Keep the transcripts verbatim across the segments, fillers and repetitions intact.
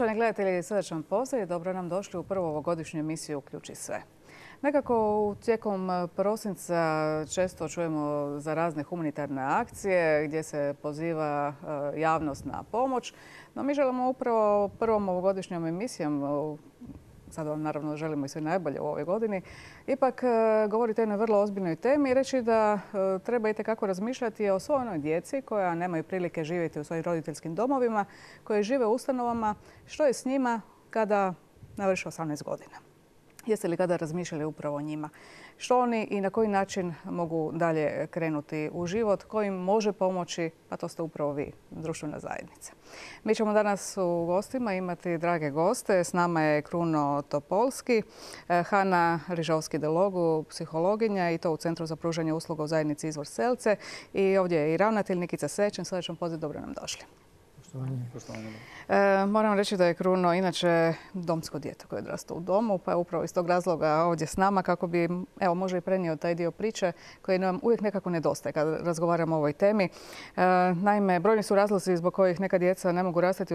Poštovani gledatelji, srdačan pozdrav i dobro nam došli u prvu ovogodišnju emisiju Uključi sve. Nekako tijekom prosinca često čujemo za razne humanitarne akcije gdje se poziva javnost na pomoć, no mi želimo upravo prvom ovogodišnjom emisijom, sad vam naravno želimo i sve najbolje u ovoj godini, ipak govoriti o jednoj vrlo ozbiljnoj temi i reći da treba itekako razmišljati o svoj onoj djeci koja nemaju prilike živjeti u svojim roditeljskim domovima, koje žive u ustanovama, što je s njima kada navrše osamnaest godina. Jeste li kada razmišljali upravo o njima? Što oni i na koji način mogu dalje krenuti u život? Ko im može pomoći? Pa to ste upravo vi, društvena zajednica. Mi ćemo danas u gostima imati drage goste. S nama je Kruno Topolski, Hana Rižovski-Delogu, psihologinja i to u Centru za pružanje usluga u zajednici Izvor Selce. I ovdje je i ravnatelj Nikica Sečin. Srdačan pozdrav, dobro nam došli. E, moram reći da je Kruno inače domsko dijete koje je odrastao u domu, pa je upravo iz tog razloga ovdje s nama kako bi, evo, možda i prenio taj dio priče koji nam uvijek nekako nedostaje kad razgovaramo o ovoj temi. E, naime, brojni su razlozi zbog kojih neka djeca ne mogu rastati,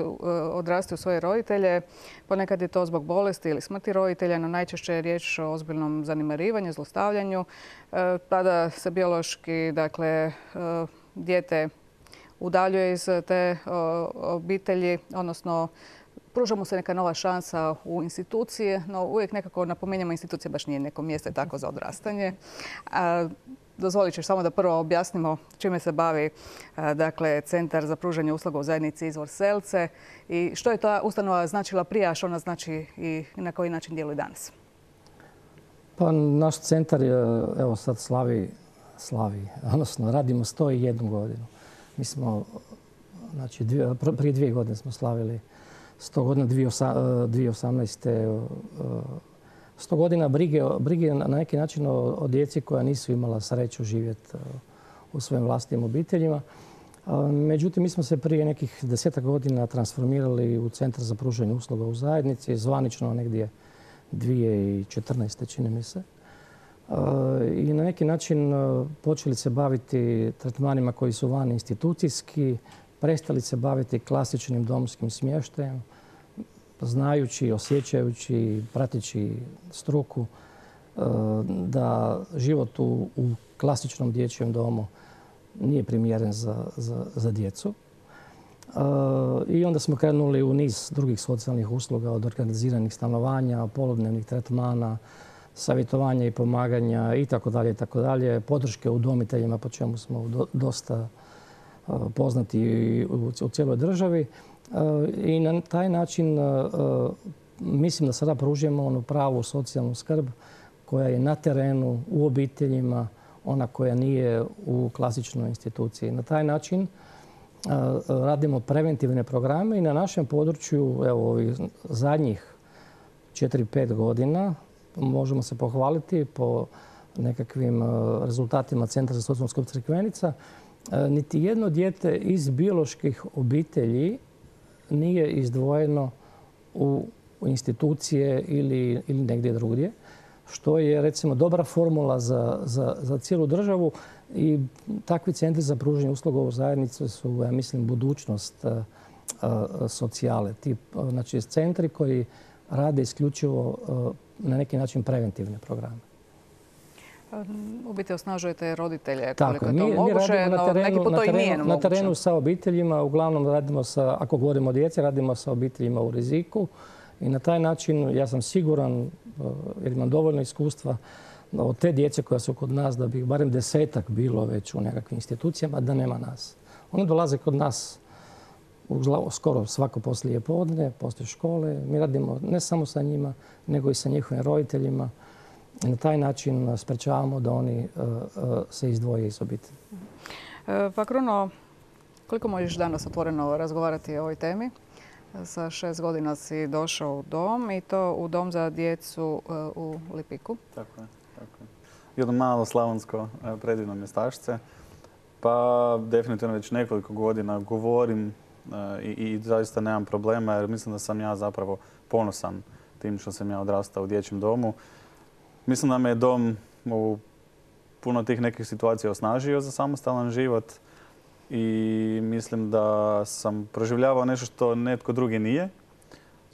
odrasti u svoje roditelje. Ponekad je to zbog bolesti ili smrti roditelja, no najčešće je riječ o ozbiljnom zanemarivanju, zlostavljanju. E, tada se biološki, dakle, e, dijete udaljuje iz te obitelji, odnosno pruža mu se neka nova šansa u institucije, no uvijek nekako napominjemo institucije baš nije neko mjesto tako za odrastanje. Dozvolit ćeš samo da prvo objasnimo čime se bavi dakle, Centar za pružanje usluga u zajednici Izvor Selce i što je ta ustanova značila prije, a što ona znači i na koji način djeluje danas. Pa naš centar je, evo sad slavi, slavi, odnosno radimo sto i jednu godinu. Mi smo, znači, dvije, prije dvije godine smo slavili sto godina, dvije tisuće osamnaeste. sto godina brige, brige na neki način o, o djeci koja nisu imala sreću živjeti u svojim vlastitim obiteljima. Međutim, mi smo se prije nekih desetak godina transformirali u Centar za pružanje usluga u zajednici, zvanično negdje dvije tisuće četrnaeste. čini mi se. I na neki način počeli se baviti tretmanima koji su van institucijski, prestali se baviti klasičnim domskim smještajem, znajući, osjećajući, prateći struku da život u, u klasičnom dječjem domu nije primjeren za, za, za djecu. I onda smo krenuli u niz drugih socijalnih usluga, od organiziranih stanovanja, poludnevnih tretmana, savjetovanja i pomaganja i tako dalje i tako dalje, podrške udomiteljima po čemu smo do, dosta uh, poznati u, u cijeloj državi. Uh, I na taj način uh, mislim da sada pružujemo onu pravu socijalnu skrb koja je na terenu, u obiteljima, ona koja nije u klasičnoj instituciji. Na taj način uh, radimo preventivne programe i na našem području, evo, ovih zadnjih četiri pet godina, možemo se pohvaliti po nekakvim rezultatima Centra za socijalnu skrb Crikvenica. Niti jedno dijete iz bioloških obitelji nije izdvojeno u institucije ili, ili negdje drugdje, što je recimo dobra formula za, za, za cijelu državu i takvi centri za pružanje usluga u zajednici su, ja mislim, budućnost a, a, socijale. Ti, znači, centri koji rade isključivo a, na neki način preventivne programe. U biti osnažujete roditelje koliko je to mi, moguće, no terenu, neki put to i nije moguće. Na terenu sa obiteljima, uglavnom radimo sa, ako govorimo o djeci, radimo sa obiteljima u riziku i na taj način ja sam siguran, jer imam dovoljno iskustva od te djece koja su kod nas, da bi barem desetak bilo već u nekakvim institucijama, da nema nas. Oni dolaze kod nas skoro svako poslije podne, poslije škole. Mi radimo ne samo sa njima, nego i sa njihovim roditeljima. I na taj način sprečavamo da oni uh, uh, se izdvoje iz obitelji. Pa Kruno, koliko možeš danas otvoreno razgovarati o ovoj temi? Sa šest godina si došao u dom i to u dom za djecu uh, u Lipiku. Tako je. Tako je. Jedno malo slavonsko predivno mjestašce. Pa definitivno već nekoliko godina govorim I, i zaista nemam problema jer mislim da sam ja zapravo ponosan tim što sam ja odrastao u dječjem domu. Mislim da me je dom u puno tih nekih situacija osnažio za samostalan život i mislim da sam proživljavao nešto što netko drugi nije.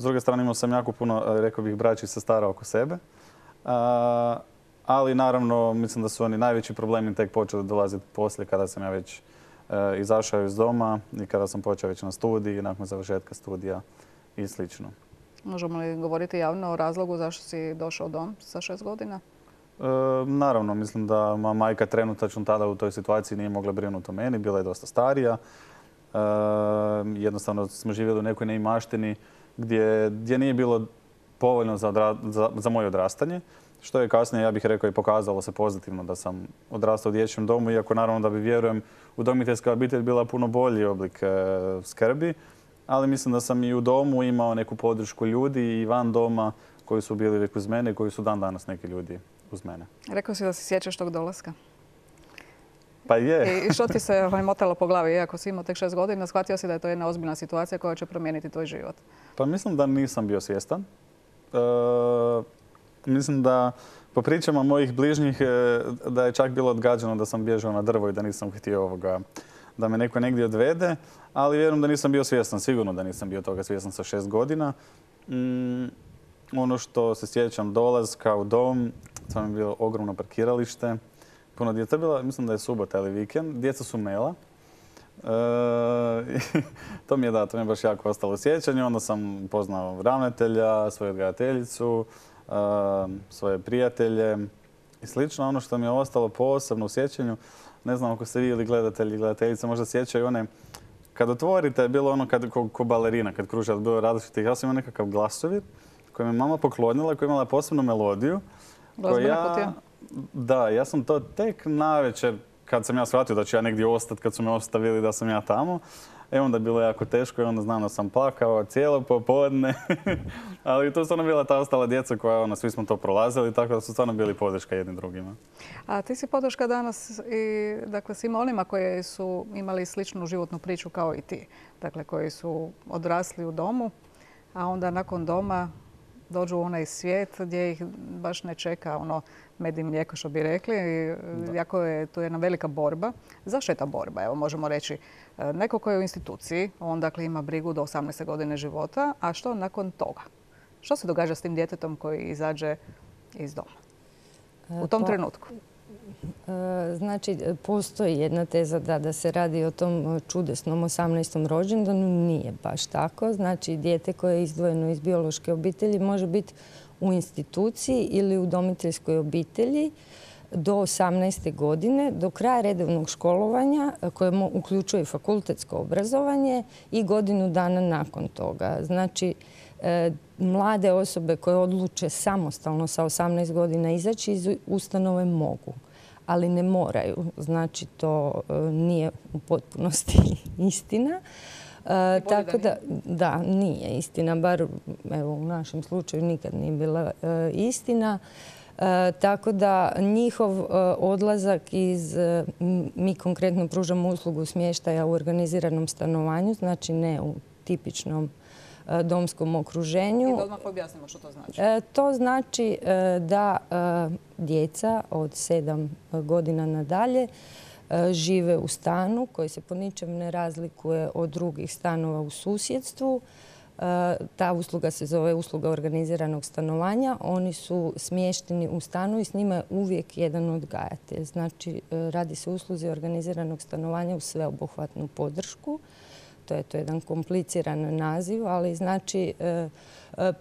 S druge strane imao sam jako puno, rekao bih, braći i sestara oko sebe. Ali naravno mislim da su oni najveći problemi tek počeli dolaziti poslije kada sam ja već izašao iz doma i kada sam počeo već na studiji i nakon završetka studija i slično. Možemo li govoriti javno o razlogu zašto si došao u dom sa šest godina? E, naravno, mislim da moja majka trenutačno tada u toj situaciji nije mogla brinuti o meni, bila je dosta starija. E, jednostavno smo živjeli u nekoj neimaštini gdje, gdje nije bilo povoljno za, odra, za, za moje odrastanje, što je kasnije, ja bih rekao, i pokazalo se pozitivno da sam odrastao u dječjem domu, iako naravno da bi, vjerujem, udomiteljska obitelj bila puno bolji oblik e, skrbi, ali mislim da sam i u domu imao neku podršku ljudi i van doma koji su bili uvijek uz mene i koji su dan danas neki ljudi uz mene. Rekao si da se sjećaš tog dolaska. Pa je. I što ti se ovaj, motalo po glavi? Iako si imao tek šest godina, shvatio si da je to jedna ozbiljna situacija koja će promijeniti tvoj život? Pa mislim da nisam bio svjestan. E, mislim da po pričama mojih bližnjih da je čak bilo odgađano da sam bježao na drvo i da nisam htio ovoga, da me neko negdje odvede, ali vjerujem da nisam bio svjestan, sigurno da nisam bio toga svjestan sa šest godina. Mm, ono što se sjećam dolaska u dom, to mi je bilo ogromno parkiralište, puno djeca bila, mislim da je subota ili vikend, djeca su mela. E, to mi je da, to mi je baš jako ostalo sjećanje. Onda sam poznao ravnatelja, svoju odgajateljicu, e, svoje prijatelje i slično. Ono što mi je ostalo posebno u sjećanju, ne znam ako ste vi ili gledatelji i gledateljice možda sjećaju one, kad otvorite, je bilo ono kad, ko, ko balerina, kad kruže, bilo različitih. Ja sam imao nekakav glasovir koji mi je mama poklonila, koji je imala posebnu melodiju. Glazbena kutija? Da, ja sam to tek navečer, kad sam ja shvatio da ću ja negdje ostati, kad su me ostavili da sam ja tamo. E onda je bilo jako teško i onda znam da sam plakao cijelo popodne. Ali to su stvarno bila ta ostala djeca koja, ono, svi smo to prolazili, tako da su stvarno bili podrška jednim drugima. A ti si podrška danas i dakle, svima onima koji su imali sličnu životnu priču kao i ti. Dakle, koji su odrasli u domu, a onda nakon doma dođu u onaj svijet gdje ih baš ne čeka ono med i mlijeko, što bi rekli. Da. Jako je tu jedna velika borba. Zašto je ta borba? Evo, možemo reći, neko koji je u instituciji, on dakle ima brigu do osamnaeste godine života, a što nakon toga? Što se događa s tim djetetom koji izađe iz doma u tom pa, trenutku? Znači, postoji jedna teza da, da se radi o tom čudesnom osamnaestom rođendanu. Nije baš tako. Znači, dijete koje je izdvojeno iz biološke obitelji može biti u instituciji ili u udomiteljskoj obitelji do osamnaeste godine, do kraja redovnog školovanja, koje uključuje fakultetsko obrazovanje, i godinu dana nakon toga. Znači, mlade osobe koje odluče samostalno sa osamnaest godina izaći iz ustanove mogu, ali ne moraju. Znači, to nije u potpunosti istina. E, tako da, da, nije istina, bar evo, u našem slučaju nikad nije bila e, istina. E, tako da njihov e, odlazak iz, e, mi konkretno pružamo uslugu smještaja u organiziranom stanovanju, znači ne u tipičnom e, domskom okruženju. I da odmah objasnimo što to znači. E, to znači e, da e, djeca od sedam godina nadalje žive u stanu koji se po ničem ne razlikuje od drugih stanova u susjedstvu. Ta usluga se zove usluga organiziranog stanovanja. Oni su smješteni u stanu i s njima je uvijek jedan odgajatelj. Znači, radi se o usluzi organiziranog stanovanja u sveobuhvatnu podršku. To je to jedan kompliciran naziv, ali znači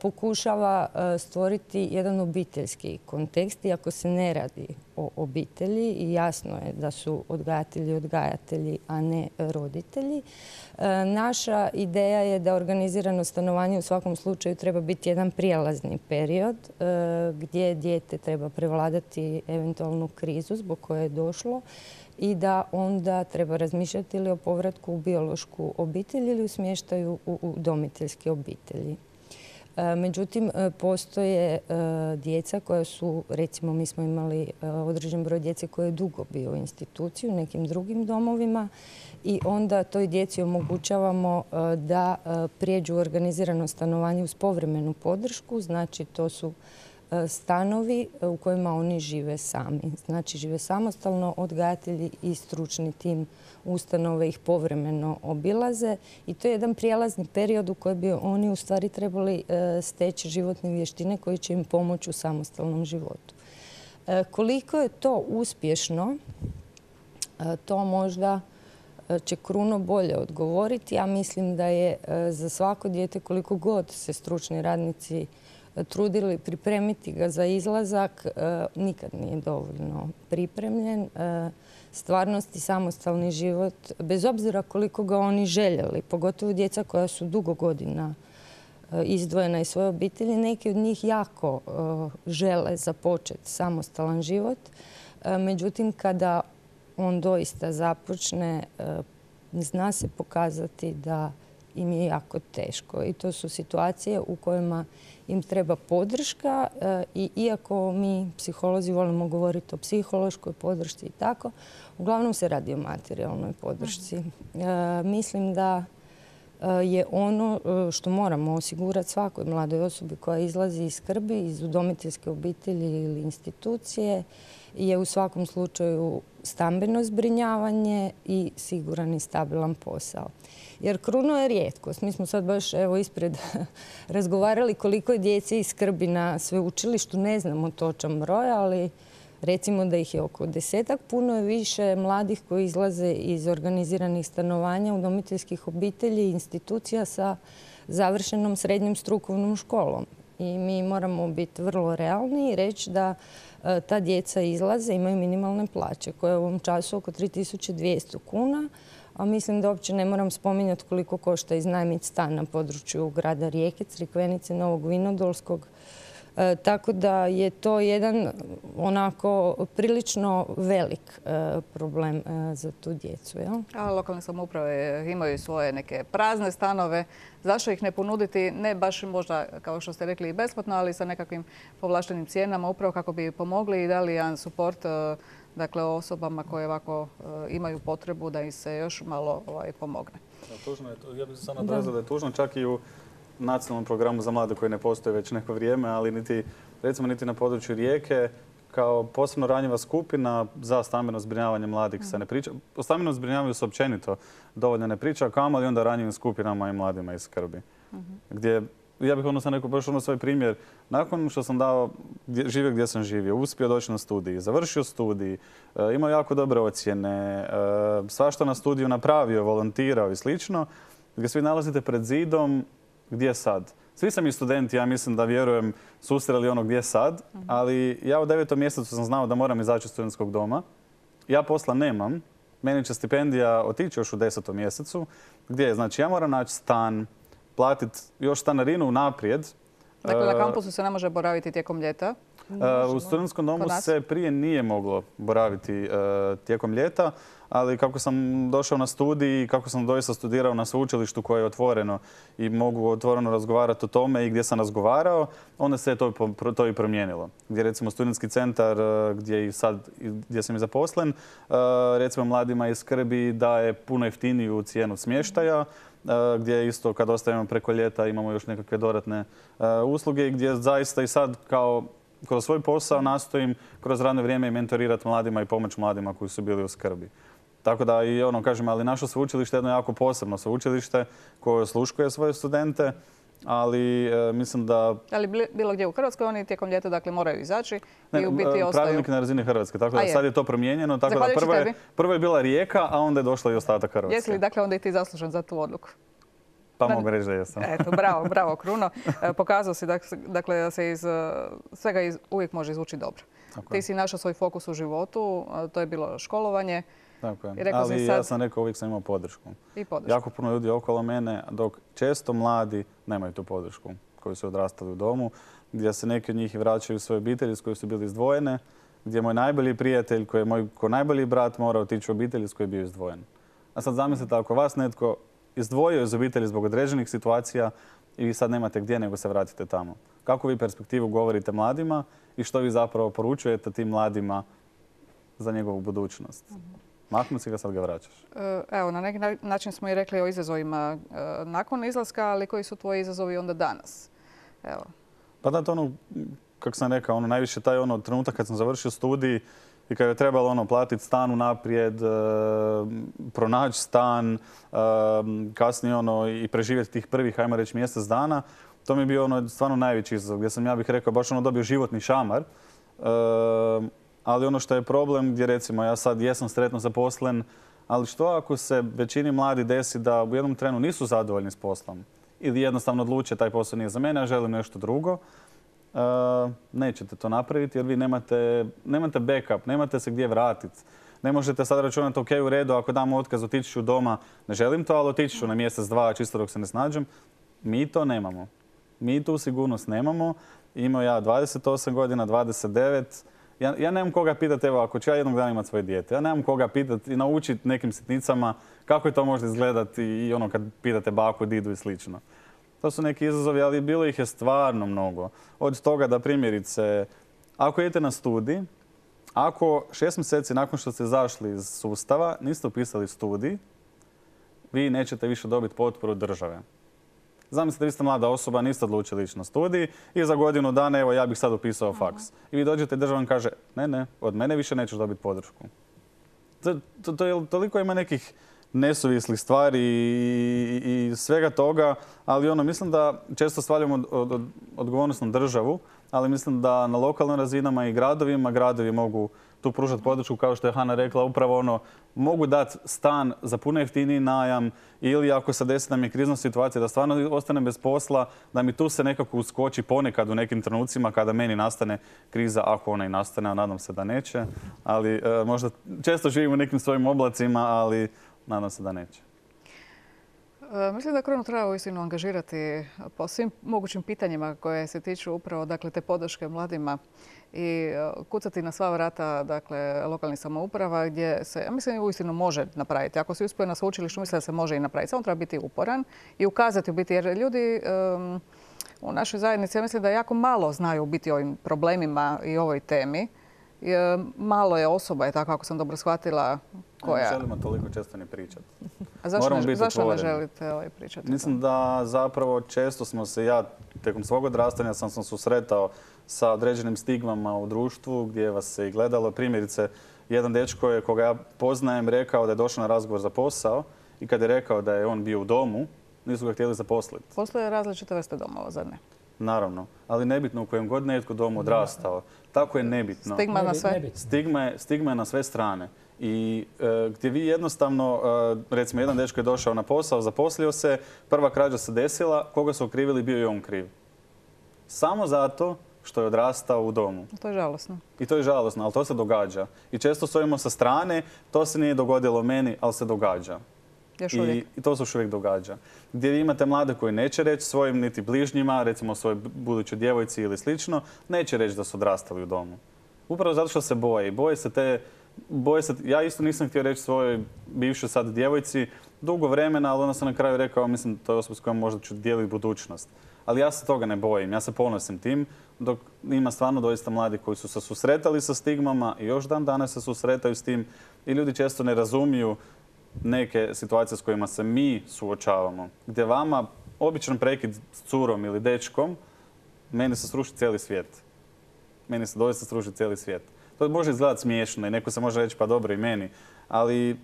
pokušava stvoriti jedan obiteljski kontekst, iako se ne radi o obitelji i jasno je da su odgajatelji odgajatelji, a ne roditelji. Naša ideja je da organizirano stanovanje u svakom slučaju treba biti jedan prijelazni period gdje dijete treba prevladati eventualnu krizu zbog koje je došlo i da onda treba razmišljati ili o povratku u biološku obitelj ili u smještaju u udomiteljske obitelji. Međutim, postoje djeca koja su, recimo mi smo imali određen broj djece koje je dugo bio u instituciji u nekim drugim domovima i onda toj djeci omogućavamo da prijeđu u organizirano stanovanje uz povremenu podršku. Znači, to su stanovi u kojima oni žive sami. Znači žive samostalno, odgajatelji i stručni tim ustanove ih povremeno obilaze i to je jedan prijelazni period u kojem bi oni u stvari trebali steći životne vještine koje će im pomoći u samostalnom životu. Koliko je to uspješno, to možda će Kruno bolje odgovoriti. Ja mislim da je za svako dijete, koliko god se stručni radnici trudili pripremiti ga za izlazak, nikad nije dovoljno pripremljen. Stvarnost i samostalni život, bez obzira koliko ga oni željeli, pogotovo djeca koja su dugo godina izdvojena iz svoje obitelji, neki od njih jako žele započeti samostalan život. Međutim, kada on doista započne, zna se pokazati da im je jako teško. I to su situacije u kojima im treba podrška i iako mi psiholozi volimo govoriti o psihološkoj podršci i tako, uglavnom se radi o materijalnoj podršci. Mislim da je ono što moramo osigurati svakoj mladoj osobi koja izlazi iz skrbi, iz udomiteljske obitelji ili institucije, je u svakom slučaju stambeno zbrinjavanje i siguran i stabilan posao. Jer Kruno je rijetkost. Mi smo sad baš evo ispred razgovarali koliko je djece iz skrbi na sveučilištu. Ne znamo točan broj, ali recimo da ih je oko desetak. Puno je više mladih koji izlaze iz organiziranih stanovanja, udomiteljskih obitelji i institucija sa završenom srednjom strukovnom školom. I mi moramo biti vrlo realni i reći da ta djeca izlaze, imaju minimalne plaće koje je u ovom času oko tri tisuće dvjesto kuna, a mislim da uopće ne moram spominjati koliko košta iznajmiti stan na području grada Rijeke, Crikvenice, Novog Vinodolskog. E, tako da je to jedan onako prilično velik e, problem e, za tu djecu. Jel? A lokalne samouprave imaju svoje neke prazne stanove. Zašto ih ne ponuditi, ne baš možda, kao što ste rekli, i besplatno, ali sa nekakvim povlaštenim cijenama, upravo kako bi pomogli i dali jedan suport e, dakle, osobama koje ovako e, imaju potrebu da im se još malo ovaj, pomogne. Ja, tužno je, ja bih se samo nadovezao da je tužno čak i u nacionalnom programu za mlade koji ne postoji već neko vrijeme, ali niti, recimo, niti na području Rijeke kao posebno ranjiva skupina za stambeno zbrinjavanje mladih se ne priča. O stambenom zbrinjavanju se općenito dovoljno ne priča, kamoli onda ranjivim skupinama i mladima iz skrbi. Gdje, ja bih ono sam rekao baš ono svoj primjer, nakon što sam dao, živio gdje sam živio, uspio doći na studij, završio studij, imao jako dobre ocjene, svašta na studiju napravio, volontirao i slično, gdje svi nalazite pred zidom. Gdje sad? Svi sam i studenti, ja mislim da vjerujem, susreli ono gdje sad, ali ja u devetom mjesecu sam znao da moram izaći iz studentskog doma. Ja posla nemam, meni će stipendija otići još u desetom mjesecu. Gdje je? Znači ja moram naći stan, platiti još stanarinu naprijed. Dakle, na kampusu se ne može boraviti tijekom ljeta? U studentskom domu se prije nije moglo boraviti tijekom ljeta, ali kako sam došao na studij i kako sam doista studirao na sveučilištu koje je otvoreno i mogu otvoreno razgovarati o tome i gdje sam razgovarao, onda se to, to i promijenilo. Gdje recimo studentski centar gdje, i sad, gdje sam i zaposlen, recimo mladima iz skrbi daje puno jeftiniju cijenu smještaja, gdje isto kad ostavimo preko ljeta imamo još nekakve dodatne usluge i gdje zaista i sad kao kroz svoj posao nastojim kroz radno vrijeme i mentorirati mladima i pomoći mladima koji su bili u skrbi. Tako da i ono kažem, ali naše sveučilište je jedno jako posebno sveučilište koje osluškuje svoje studente, ali e, mislim da... Ali bilo gdje u Hrvatskoj oni tijekom ljeta dakle moraju izaći i u biti ostaju. Pravilnik na razini Hrvatske, tako da sad je to promijenjeno. Tako da prvo je, prvo je bila Rijeka, a onda je došla i ostatak Hrvatske. Jesi li dakle onda i ti zaslužen za tu odluku? Pa mogu reći da jesam. Eto, bravo, bravo Kruno. Pokazao si dakle da se iz svega iz, uvijek može izvući dobro. Tako ti si našao svoj fokus u životu, to je bilo školovanje. Tako je. Ali sad... ja sam rekao, uvijek sam imao podršku. I podršku. Jako puno ljudi okolo mene, dok često mladi nemaju tu podršku koji su odrastali u domu, gdje se neki od njih vraćaju u svoje obitelji s koje su bili izdvojene, gdje moj najbolji prijatelj, koji je moj ko najbolji brat, mora otići u obitelji s koje je bio izdvojen. A sad zamislite, ako vas netko izdvojio iz obitelji zbog određenih situacija i vi sad nemate gdje nego se vratite tamo. Kako vi perspektivu govorite mladima i što vi zapravo poručujete tim mladima za njegovu budućnost? Maknuti si ga, sad ga vraćaš. Evo, na neki način smo i rekli o izazovima nakon izlaska, ali koji su tvoji izazovi onda danas? Evo. Pa da, to ono, kako sam rekao, ono, najviše taj ono, trenutak kad sam završio studij i kad je trebalo ono, platiti stan unaprijed, e, pronaći stan, e, kasnije ono, i preživjeti tih prvih, ajmo reći, mjesec dana, to mi je bio ono, stvarno najveći izazov, gdje sam, ja bih rekao, baš ono dobio životni šamar. E, ali ono što je problem, gdje recimo ja sad jesam sretno zaposlen, ali što ako se većini mladi desi da u jednom trenu nisu zadovoljni s poslom ili jednostavno odluče taj posao nije za mene, ja želim nešto drugo, e, nećete to napraviti jer vi nemate, nemate backup, nemate se gdje vratiti. Ne možete sad računati, ok, u redu, ako dam otkaz, otići ću doma, ne želim to, ali otići ću na mjesec, dva, čisto dok se ne snađem. Mi to nemamo. Mi tu sigurnost nemamo. Imao ja dvadeset osam godina, dvadeset devet. Ja, ja nemam koga pitati, evo, ako ću ja jednog dana imati svoje dijete, ja nemam koga pitati i naučiti nekim sitnicama kako je to može izgledati i ono kad pitate baku, didu i slično. To su neki izazovi, ali bilo ih je stvarno mnogo. Od toga da primjerice, ako idete na studij, ako šest mjeseci nakon što ste izašli iz sustava niste upisali studij, vi nećete više dobiti potporu države. Zamislite, vi ste mlada osoba, niste odlučili ići na studij i za godinu dana, evo, ja bih sad upisao faks. I vi dođete i država vam kaže, ne, ne, od mene više nećeš dobiti podršku. To, to, to je, toliko ima nekih nesuvislih stvari i, i, i svega toga, ali ono, mislim da često svaljamo od, od, od, odgovornost na državu, ali mislim da na lokalnim razinama i gradovima, gradovi mogu tu pružati podršku, kao što je Hana rekla, upravo ono, mogu dati stan za puno jeftiniji najam ili ako se desi nam je krizna situacija da stvarno ostane bez posla, da mi tu se nekako uskoči ponekad u nekim trenucima kada meni nastane kriza, ako ona i nastane, a nadam se da neće. Ali e, možda često živim u nekim svojim oblacima, ali nadam se da neće. Mislim da Krunu treba uistinu angažirati po svim mogućim pitanjima koje se tiču upravo, dakle, te podrške mladima i kucati na sva vrata, dakle, lokalnih samouprava gdje se, ja mislim, uistinu može napraviti. Ako se uspije na sveučilištu, mislim da se može i napraviti. Samo treba biti uporan i ukazati u biti, jer ljudi um, u našoj zajednici, ja mislim da jako malo znaju biti o ovim problemima i ovoj temi. Malo je osoba, je tako, ako sam dobro shvatila, koja... Ne želimo toliko često ni pričati. A zašto, ne, zašto ne želite ovaj pričati? Mislim da zapravo često smo se, ja tijekom svog odrastanja sam se susretao sa određenim stigmama u društvu gdje vas se i gledalo. Primjerice, jedan dečko je koga ja poznajem rekao da je došao na razgovor za posao i kad je rekao da je on bio u domu, nisu ga htjeli zaposliti. Postoje različite vrste domova, zar ne? Naravno, ali nebitno u kojem god netko domu odrastao. Tako je nebitno. Stigma na sve? Stigma je, stigma je na sve strane. I e, gdje vi jednostavno, e, recimo jedan dečko je došao na posao, zaposlio se, prva krađa se desila, koga su okrivili, bio je on kriv. Samo zato što je odrastao u domu. To je žalosno. I to je žalosno, ali to se događa. I često stojimo sa strane, to se nije dogodilo meni, ali se događa. Još uvijek. I, I to se još uvijek događa. Gdje vi imate mlade koji neće reći svojim niti bližnjima, recimo svojoj budućoj djevojci ili slično, neće reći da su odrastali u domu. Upravo zato što se boje. Boje se te... Boje se, ja isto nisam htio reći svojoj bivšoj sad djevojci dugo vremena, ali onda sam na kraju rekao, mislim, to je osoba s kojom možda ću dijeliti budućnost. Ali ja se toga ne bojim, ja se ponosim tim, dok ima stvarno doista mladi koji su se susretali sa stigmama i još dan danas se susretaju s tim i ljudi često ne razumiju neke situacije s kojima se mi suočavamo. Gdje vama običan prekid s curom ili dečkom, meni se sruši cijeli svijet. Meni se doista sruši cijeli svijet. To može izgledati smiješno i neko se može reći pa dobro i meni, ali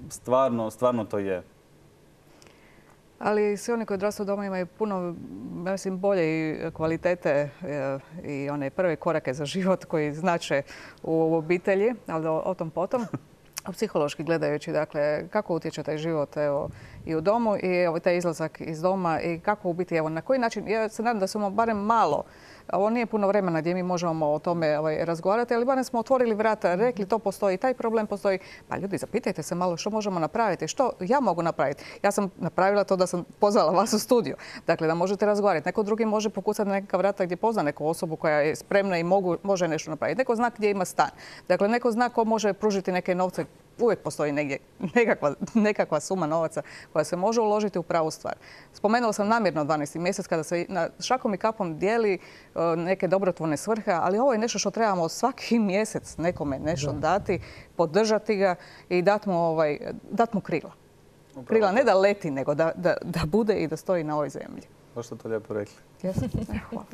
stvarno, stvarno to je. Ali svi oni koji odrastaju doma imaju puno, mislim, bolje i kvalitete i one prve korake za život koji znače u obitelji, ali o tom potom. Psihološki gledajući, dakle, kako utječe taj život evo, i u domu i evo, taj izlazak iz doma i kako u biti, evo, na koji način, ja se nadam da smo barem malo, ovo nije puno vremena gdje mi možemo o tome ovaj, razgovarati, ali barem smo otvorili vrata, rekli to postoji, taj problem postoji. Pa ljudi, zapitajte se malo što možemo napraviti, što ja mogu napraviti. Ja sam napravila to da sam pozvala vas u studiju, dakle da možete razgovarati. Neko drugi može pokucati na neka vrata gdje pozna neku osobu koja je spremna i mogu, može nešto napraviti. Neko zna gdje ima stan. Dakle, neko zna ko može pružiti neke novce. Uvijek postoji negdje nekakva, nekakva suma novaca koja se može uložiti u pravu stvar. Spomenula sam namjerno dvanaesti mjesec kada se na šakom i kapom dijeli neke dobrotvorne svrhe, ali ovo je nešto što trebamo svaki mjesec nekome nešto dati, podržati ga i dati mu, ovaj, dat mu krila. Upravo krila ne da leti, nego da, da, da bude i da stoji na ovoj zemlji. Baš ste to lijepo rekli. Jesam? Hvala.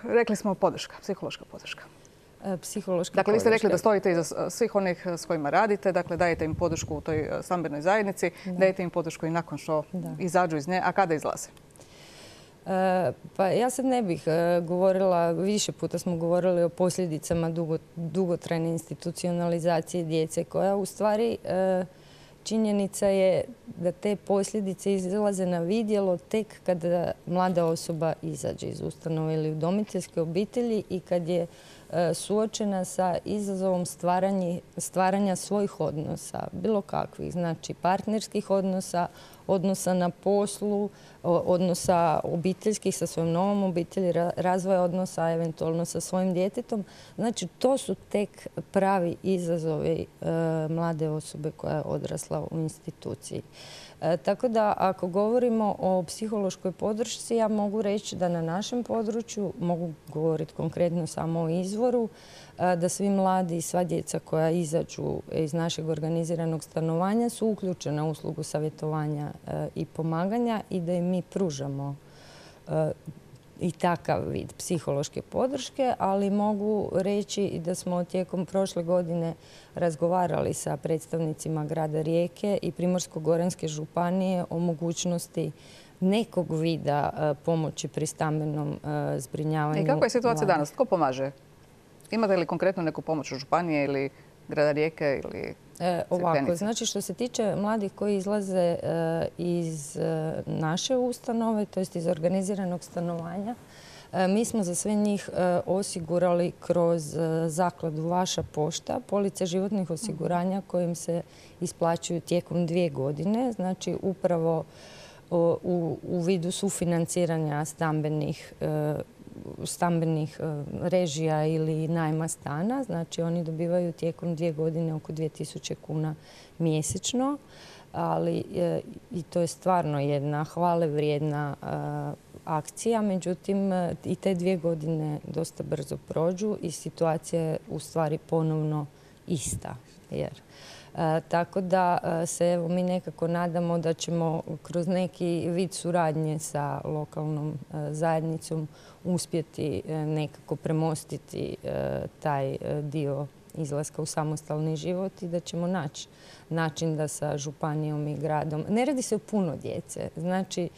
Rekli smo podrška, psihološka podrška. Psihološka dakle, vi ste rekli podrška. da stojite iza svih onih s kojima radite, dakle dajete im podršku u toj stambenoj zajednici, da. dajete im podršku i nakon što da. izađu iz nje, a kada izlaze? E, pa ja sad ne bih e, govorila, više puta smo govorili o posljedicama dugo, dugotrajne institucionalizacije djece koja u stvari e, činjenica je da te posljedice izlaze na vidjelo tek kada mlada osoba izađe iz ustanove ili udomiteljske obitelji i kad je suočena sa izazovom stvaranja svojih odnosa, bilo kakvih, znači partnerskih odnosa, odnosa na poslu, odnosa obiteljskih sa svojom novom obitelji, razvoja odnosa eventualno sa svojim djetetom. Znači, to su tek pravi izazovi mlade osobe koja je odrasla u instituciji. E, tako da ako govorimo o psihološkoj podršci, ja mogu reći da na našem području, mogu govoriti konkretno samo o izvoru, e, da svi mladi i sva djeca koja izađu iz našeg organiziranog stanovanja su uključena u uslugu savjetovanja e, i pomaganja i da im mi pružamo e, i takav vid psihološke podrške, ali mogu reći i da smo tijekom prošle godine razgovarali sa predstavnicima grada Rijeke i Primorsko-goranske županije o mogućnosti nekog vida pomoći pri stambenom zbrinjavanju. I kakva je situacija danas? Tko pomaže? Imate li konkretno neku pomoć od županije ili grada Rijeke ili E, ovako, znači što se tiče mladih koji izlaze e, iz e, naše ustanove, to jest iz organiziranog stanovanja, e, mi smo za sve njih e, osigurali kroz e, zakladu Vaša pošta police životnih osiguranja kojim se isplaćuju tijekom dvije godine, znači upravo o, u, u vidu sufinanciranja stambenih e, stambenih režija ili najma stana. Znači oni dobivaju tijekom dvije godine oko dvije tisuće kuna mjesečno, ali i to je stvarno jedna hvale vrijedna akcija. Međutim, i te dvije godine dosta brzo prođu i situacija je u stvari ponovno ista. Jer E, tako da se evo, mi nekako nadamo da ćemo kroz neki vid suradnje sa lokalnom e, zajednicom uspjeti e, nekako premostiti e, taj dio izlaska u samostalni život i da ćemo naći način da sa županijom i gradom. Ne radi se o puno djece. Znači,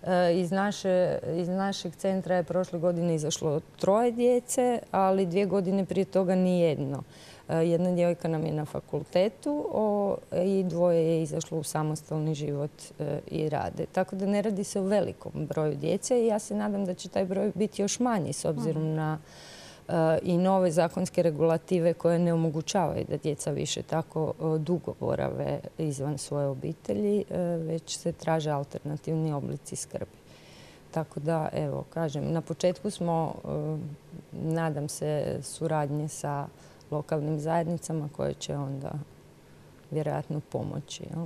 e, iz, naše, iz našeg centra je prošle godine izašlo troje djece, ali dvije godine prije toga ni jedno. Jedna djevojka nam je na fakultetu o, i dvoje je izašlo u samostalni život e, i rade. Tako da ne radi se o velikom broju djece i ja se nadam da će taj broj biti još manji s obzirom uh-huh. na e, i nove zakonske regulative koje ne omogućavaju da djeca više tako e, dugo borave izvan svoje obitelji, e, već se traže alternativni oblici skrbi. Tako da, evo, kažem, na početku smo, e, nadam se, suradnje sa lokalnim zajednicama koje će onda vjerojatno pomoći. Jel?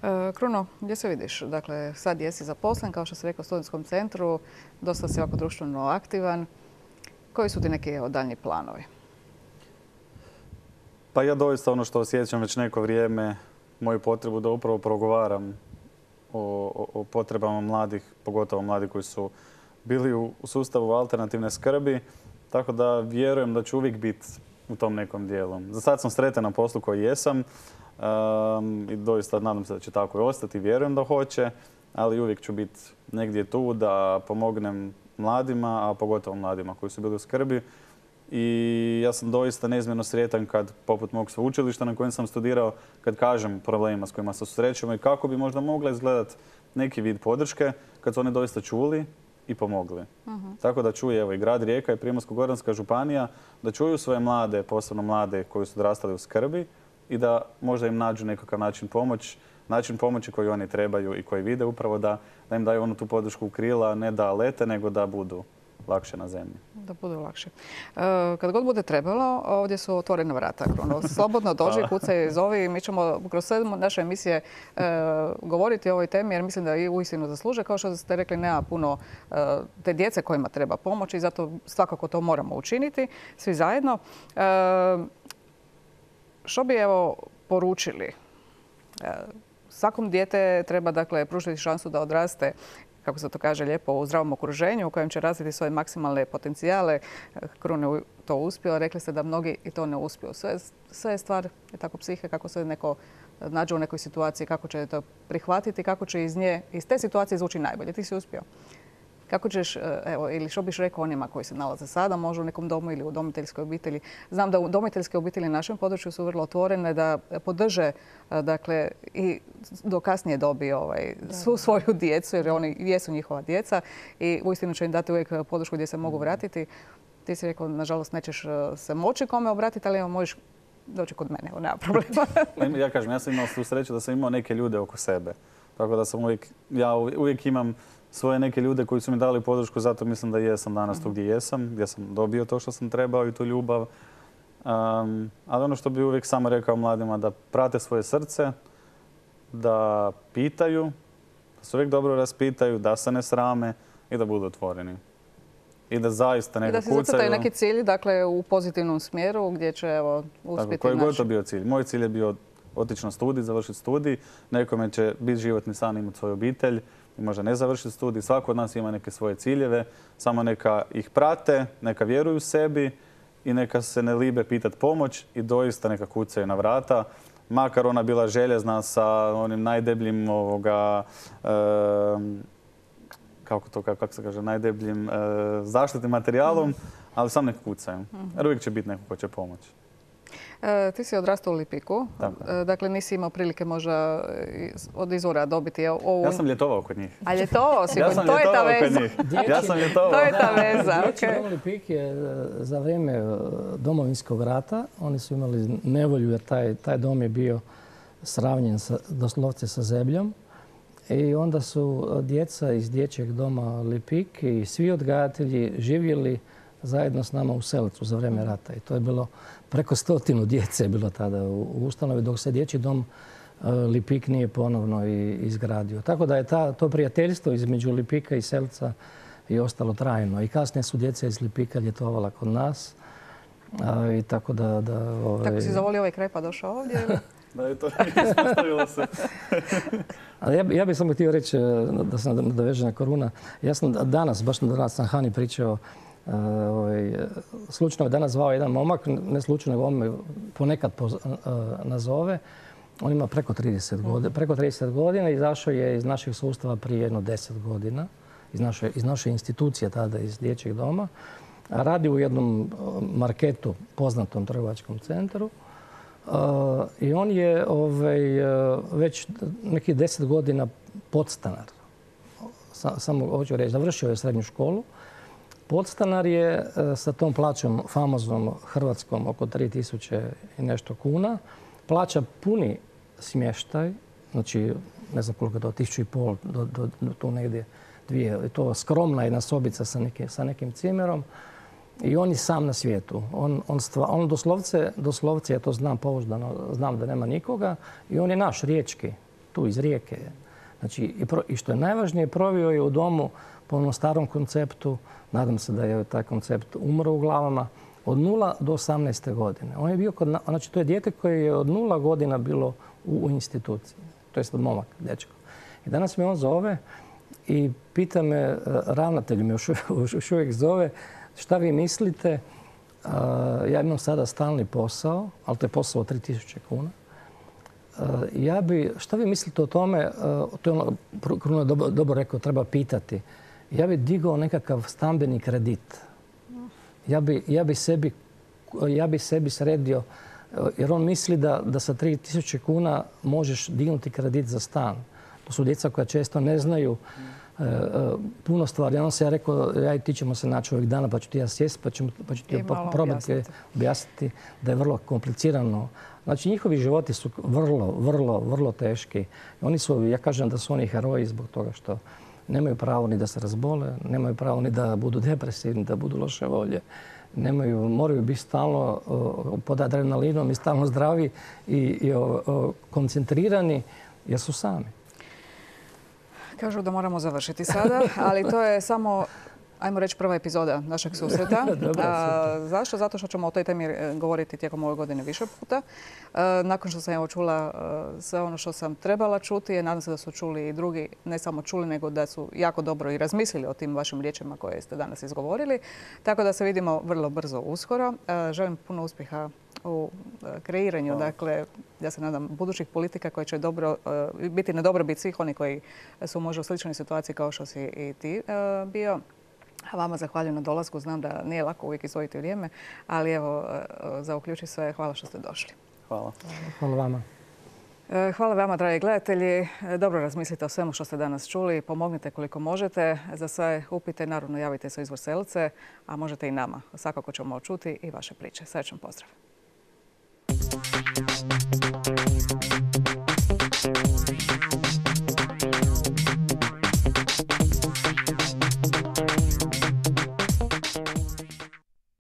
E, Kruno, gdje se vidiš? Dakle, sad jesi zaposlen, kao što se rekao u studentskom centru, dosta si ovako društveno aktivan. Koji su ti neki daljnji planovi? Pa ja doista ono što osjećam već neko vrijeme, moju potrebu da upravo progovaram o, o, o potrebama mladih, pogotovo mladih koji su bili u, u sustavu alternativne skrbi. Tako da vjerujem da ću uvijek biti u tom nekom dijelu. Za sad sam sretan na poslu koji jesam um, i doista nadam se da će tako i ostati. Vjerujem da hoće, ali uvijek ću biti negdje tu da pomognem mladima, a pogotovo mladima koji su bili u skrbi. I ja sam doista neizmjerno sretan kad, poput mog sveučilišta na kojem sam studirao, kad kažem problemima s kojima se susrećemo i kako bi možda mogla izgledati neki vid podrške kad su oni doista čuli i pomogli. Uh-huh. Tako da čuje evo, i grad Rijeka i Primorsko-goranska županija da čuju svoje mlade, posebno mlade koji su odrastali u skrbi i da možda im nađu nekakav način pomoć, način pomoći koji oni trebaju i koji vide upravo da, da im daju onu tu podršku u krila, ne da lete, nego da budu lakše na zemlji. Da budu lakše. E, kad god bude trebalo, ovdje su otvorena vrata. Kruno. Slobodno dođi, kucaj, zovi. Mi ćemo kroz sve naše emisije e, govoriti o ovoj temi jer mislim da i uistinu zasluže. Kao što ste rekli, nema puno e, te djece kojima treba pomoći i zato svakako to moramo učiniti svi zajedno. E, što bi evo poručili? E, svakom dijete treba dakle pružiti šansu da odraste kako se to kaže lijepo, u zdravom okruženju u kojem će razviti svoje maksimalne potencijale. Krun je to uspio. Rekli ste da mnogi i to ne uspiju. Sve, sve je stvar je tako psihe, kako se neko nađe u nekoj situaciji, kako će to prihvatiti, kako će iz nje, iz te situacije izvući najbolje. Ti si uspio. Kako ćeš, evo, ili što biš rekao onima koji se nalaze sada, možda u nekom domu ili u udomiteljskoj obitelji? Znam da udomiteljske obitelji na našem području su vrlo otvorene, da podrže, dakle, i do kasnije dobi ovaj, svu svoju djecu, jer oni jesu njihova djeca i uistinu će im dati uvijek podršku gdje se mogu vratiti. Ti si rekao, nažalost, nećeš se moći kome obratiti, ali evo, možeš doći kod mene, evo, nema problema. Ja kažem, ja sam imao tu sreću da sam imao neke ljude oko sebe. Tako da sam uvijek, ja uvijek imam svoje neke ljude koji su mi dali podršku, zato mislim da jesam danas tu gdje jesam, gdje sam dobio to što sam trebao i tu ljubav. Um, ali ono što bi uvijek samo rekao mladima, da prate svoje srce, da pitaju, da se uvijek dobro raspitaju, da se ne srame i da budu otvoreni. I da zaista neka kucaju. I da si zacrtaju neki cilj, dakle, u pozitivnom smjeru gdje će, evo, uspjeti. Koji god to bio cilj. Moj cilj je bio otići na studij, završiti studij. Nekome će biti životni san, imati svoju obitelj i možda ne završiti studij. Svako od nas ima neke svoje ciljeve. Samo neka ih prate, neka vjeruju sebi i neka se ne libe pitati pomoć i doista neka kucaju na vrata. Makar ona bila željezna sa onim najdebljim ovoga, e, kako to, kako se kaže, najdebljim e, zaštitnim materijalom, ali sam nek kucaju. Jer uvijek će biti neko ko će pomoći. E, ti si odrastao u Lipiku, e, dakle nisi imao prilike možda od izvora dobiti ovu... Ja sam ljetovao kod njih. A ljetovao si ja kod sam to je ta veza. Ja sam ljetovao. To je ta veza. Dječji dom Lipik je za vrijeme Domovinskog rata, oni su imali nevolju jer taj, taj dom je bio sravnjen sa, doslovce sa zemljom. I onda su djeca iz dječjeg doma Lipik i svi odgajatelji živjeli zajedno s nama u Selcu za vrijeme rata. I to je bilo preko stotinu djece je bilo tada u ustanovi dok se dječji dom Lipik nije ponovno izgradio. Tako da je ta, to prijateljstvo između Lipika i Selca i ostalo trajno. I kasnije su djeca iz Lipika ljetovala kod nas. A, i tako da, da, ovaj... Tako si zavolio ovaj kraj pa došao ovdje? Da je to ispostavilo se. Ali ja, ja bih samo htio reći da se nadoveže na Koruna. Ja sam danas, baš danas sam Hani pričao, uh, ovaj, slučajno je danas zvao jedan momak, ne slučajno, nego on me ponekad poz, uh, nazove. On ima preko trideset godina, preko trideset godina, izašao je iz našeg sustava prije jedno deset godina, iz naše, iz naše institucije tada, iz dječjeg doma. Radi u jednom marketu, poznatom trgovačkom centru. Uh, I on je ovaj, uh, već nekih deset godina podstanar. Sa, samo hoću reći, završio je srednju školu. Podstanar je uh, sa tom plaćom famoznom hrvatskom oko tri tisuće i nešto kuna. Plaća puni smještaj, znači ne znam koliko je to, tisuću i pol do, do, do tu negdje dvije. To skromna jedna sobica sa, neke, sa nekim cimerom. I on je sam na svijetu. On, on, stva, on doslovce, doslovce, ja to znam pouzdano, znam da nema nikoga, i on je naš, riječki, tu iz Rijeke je. Znači, i, pro, i što je najvažnije, provio je u domu po onom starom konceptu, nadam se da je taj koncept umro u glavama, od nula do osamnaeste godine. On je bio kod, znači, to je dijete koje je od nula godina bilo u, u instituciji. To je momak, dečko. I danas me on zove i pita me, ravnatelj me još, još uvijek zove, šta vi mislite? Uh, ja imam sada stalni posao, ali to je posao od tri tisuće kuna. Uh, ja bi, šta vi mislite o tome? Uh, to je ono, Kruno je dobro, dobro rekao, treba pitati. Ja bi digao nekakav stambeni kredit. Ja bi, ja bi, sebi, ja bi sebi sredio, jer on misli da, da sa tri tisuće kuna možeš dignuti kredit za stan. To su djeca koja često ne znaju E, e, puno stvari. Ja se ja rekao, ja i ti ćemo se naći ovih dana, pa ću ti ja sjesti, pa, pa ću ti probati objasniti da je vrlo komplicirano. Znači, njihovi životi su vrlo, vrlo, vrlo teški. Oni su, ja kažem da su oni heroji zbog toga što nemaju pravo ni da se razbole, nemaju pravo ni da budu depresivni, da budu loše volje. Nemaju, moraju biti stalno uh, pod adrenalinom i stalno zdravi i, i uh, uh, koncentrirani jer su sami. Kažu da moramo završiti sada, ali to je samo ajmo reći, prva epizoda našeg susreta. Dobro, A, zašto? Zato što ćemo o toj temi govoriti tijekom ove godine više puta. A, nakon što sam evo čula a, sve ono što sam trebala čuti, nadam se da su čuli i drugi, ne samo čuli, nego da su jako dobro i razmislili o tim vašim riječima koje ste danas izgovorili. Tako da se vidimo vrlo brzo uskoro. A, želim puno uspjeha u kreiranju, dakle, ja se nadam, budućih politika koje će dobro, biti na dobrobit svih oni koji su možda u sličnoj situaciji kao što si i ti bio. A vama zahvaljujem na dolasku. Znam da nije lako uvijek izdvojiti vrijeme, ali evo, za Uključi sve, hvala što ste došli. Hvala. Hvala vama. Hvala vama, dragi gledatelji. Dobro razmislite o svemu što ste danas čuli. Pomognite koliko možete. Za sve upite, naravno, javite se u Izvor Selce, a možete i nama. Svakako ćemo čuti i vaše priče. Srećan pozdrav.